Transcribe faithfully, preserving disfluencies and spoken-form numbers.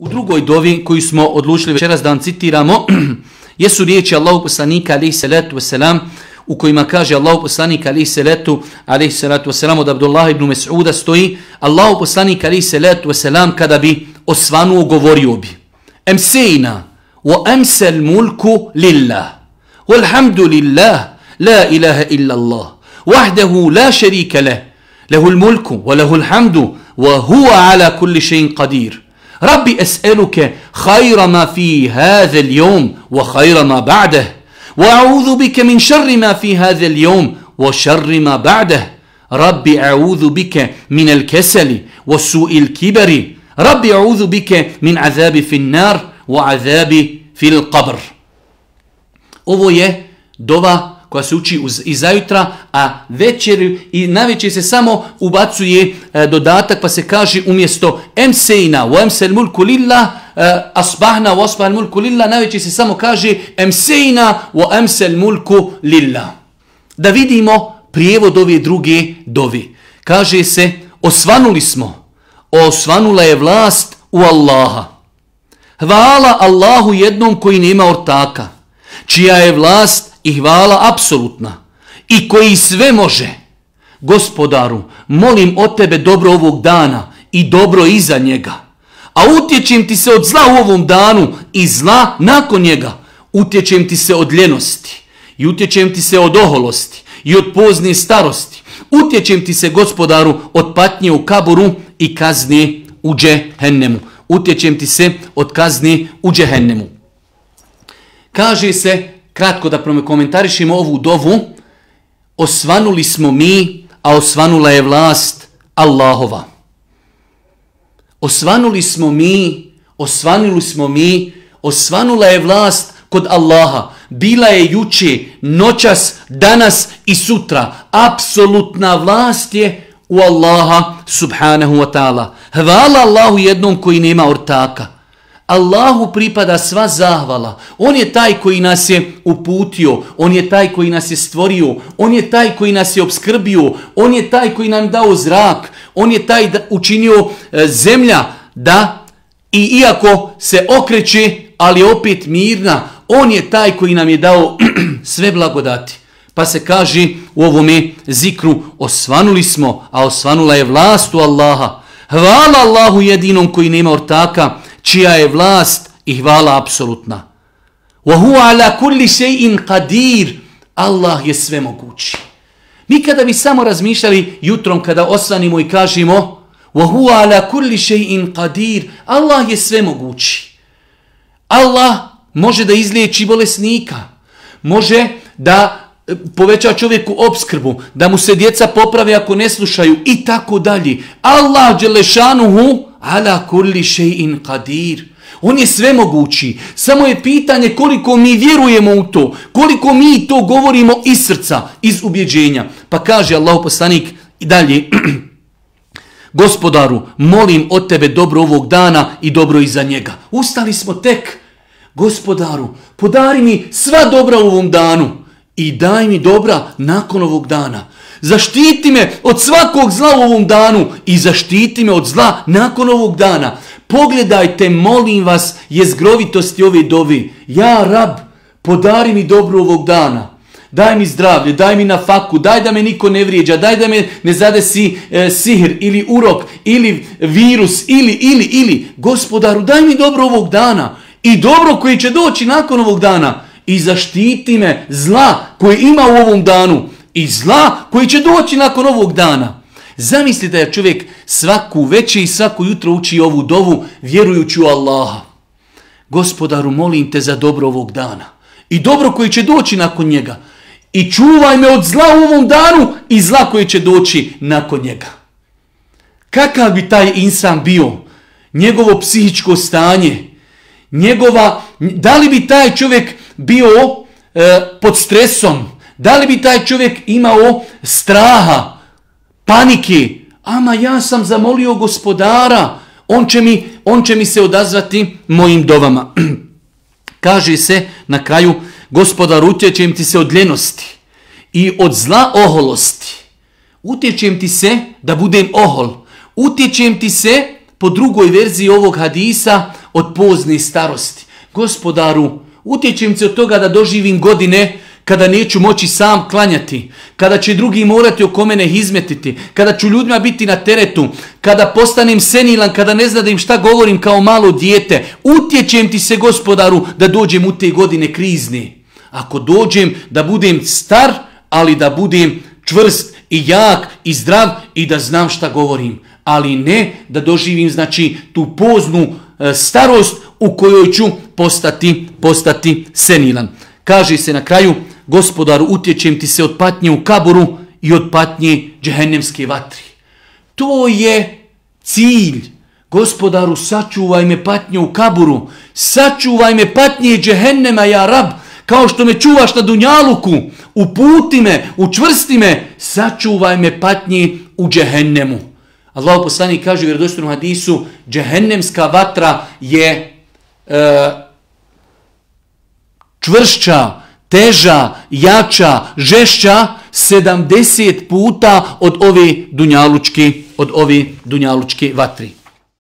U drugoj dovi koju smo odlučili večeras da vam citiramo jesu riječi Allahu poslanika alejhi salatu vesselam u kojima kaže Allahu poslanik alejhi salatu alejhi salatu vesselam od Abdullah ibn Mas'uda stoji Allahu poslanik alejhi salatu vesselam kada bi osvanuo govorio bi Emsejna wa emsel mulku lillah walhamdulillah la ilaha illa Allah wahdahu la sharika lah lahul mulku wa lahul hamdu wa huwa ala kulli shay'in qadir ربي أسألك خير ما في هذا اليوم وخير ما بعده وأعوذ بك من شر ما في هذا اليوم وشر ما بعده ربي أعوذ بك من الكسل وسوء الكبر ربي أعوذ بك من عذاب في النار وعذاب في القبر. Ovo je dova koja se uči uz, i zajutra, a večer i navečer se samo ubacuje e, dodatak pa se kaže umjesto emsejna wa emsel mulku lillah e, asbahna wa asbahal mulku lillah, navečer se samo kaže emsejna wa emsel mulku lillah. Da vidimo prijevod ove druge dove. Kaže se osvanuli smo, osvanula je vlast u Allaha. Hvala Allahu jednom koji nema ortaka, čija je vlast i hvala apsolutna i koji sve može. Gospodaru, molim od tebe dobro ovog dana i dobro iza njega. A utječem ti se od zla u ovom danu i zla nakon njega. Utječem ti se od ljenosti i utječem ti se od oholosti i od pozne starosti. Utječem ti se, Gospodaru, od patnje u kaburu i kazne u džehennemu. Utječem ti se od kazne u džehennemu. Kaže se, kratko da komentarišemo ovu dovu, osvanuli smo mi, a osvanula je vlast Allahova. Osvanuli smo mi, osvanuli smo mi, osvanula je vlast kod Allaha. Bila je juče, noćas, danas i sutra. Apsolutna vlast je u Allaha subhanahu wa ta'ala. Hvala Allahu jednom koji nema ortaka. Allahu pripada sva zahvala. On je taj koji nas je uputio, on je taj koji nas je stvorio, on je taj koji nas je obskrbio, on je taj koji nam dao zrak, on je taj da učinio e, zemlja da i iako se okreće, ali opet mirna, on je taj koji nam je dao sve blagodati. Pa se kaže u ovome zikru, osvanuli smo, a osvanula je vlast u Allaha. Hvala Allahu jedinom koji nema ortaka, čija je vlast i hvala apsolutna. Wa huwa ala kulli shay'in qadir. Allah je sve mogući. Mi kada bi samo razmišljali jutrom kada osvanimo i kažemo wa huwa ala kulli shay'in qadir, Allah je sve mogući. Allah može da izliječi bolesnika, može da poveća čovjeku opskrbu, da mu se djeca poprave ako ne slušaju i tako dalje. Allah dželešanuhu ala kulli shay'in qadir. On je sve mogući. Samo je pitanje koliko mi vjerujemo u to, koliko mi to govorimo iz srca, iz ubjeđenja. Pa kaže Allahu poslanik i dalje, Gospodaru, molim od tebe dobro ovog dana i dobro iza njega. Ustali smo tek. Gospodaru, podari mi sva dobra u ovom danu i daj mi dobra nakon ovog dana. Zaštiti me od svakog zla u ovom danu i zaštiti me od zla nakon ovog dana. Pogledajte, molim vas, jezgrovitosti ove dove. Ja, Rab, podari mi dobro ovog dana. Daj mi zdravlje, daj mi na faku, daj da me niko ne vrijeđa, daj da me ne zadesi e, sihr ili urok ili virus ili, ili, ili. Gospodaru, daj mi dobro ovog dana i dobro koji će doći nakon ovog dana. I zaštiti me zla koje ima u ovom danu i zla koji će doći nakon ovog dana. Zamislite da čovjek svaku večer i svaku jutro uči ovu dovu vjerujući u Allaha. Gospodaru, molim te za dobro ovog dana i dobro koji će doći nakon njega. I čuvaj me od zla u ovom danu i zla koji će doći nakon njega. Kakav bi taj insan bio? Njegovo psihičko stanje, njegova, da li bi taj čovjek bio e, pod stresom, da li bi taj čovjek imao straha, panike? Ama ja sam zamolio Gospodara, on će mi, on će mi se odazvati mojim dovama. Kaže se na kraju, Gospodar, utječem ti se od ljenosti i od zla oholosti. Utječem ti se da budem ohol. Utječem ti se, po drugoj verziji ovog hadisa, od pozne starosti. Gospodaru, utječem se od toga da doživim godine kada neću moći sam klanjati, kada će drugi morati oko mene izmetiti, kada ću ljudima biti na teretu, kada postanem senilan, kada ne znam da im šta govorim kao malo dijete. Utječem ti se, Gospodaru, da dođem u te godine krizne. Ako dođem, da budem star, ali da budem čvrst i jak i zdrav i da znam šta govorim. Ali ne da doživim, znači, tu poznu e, starost u kojoj ću postati, postati senilan. Kaže se na kraju, Gospodaru, utječem ti se od patnje u kaburu i od patnje džehennemske vatri. To je cilj. Gospodaru, sačuvaj me patnje u kaburu, sačuvaj me patnje džehennema, ja rab, kao što me čuvaš na dunjaluku, uputi me, učvrsti me, sačuvaj me patnje u džehennemu. Allahu poslanik kaže u vjerodostojnom hadisu, džehennemska vatra je e, čvršća, teža, jača, žešća sedamdeset puta od ove dunjalučke, od ove dunjalučke vatri.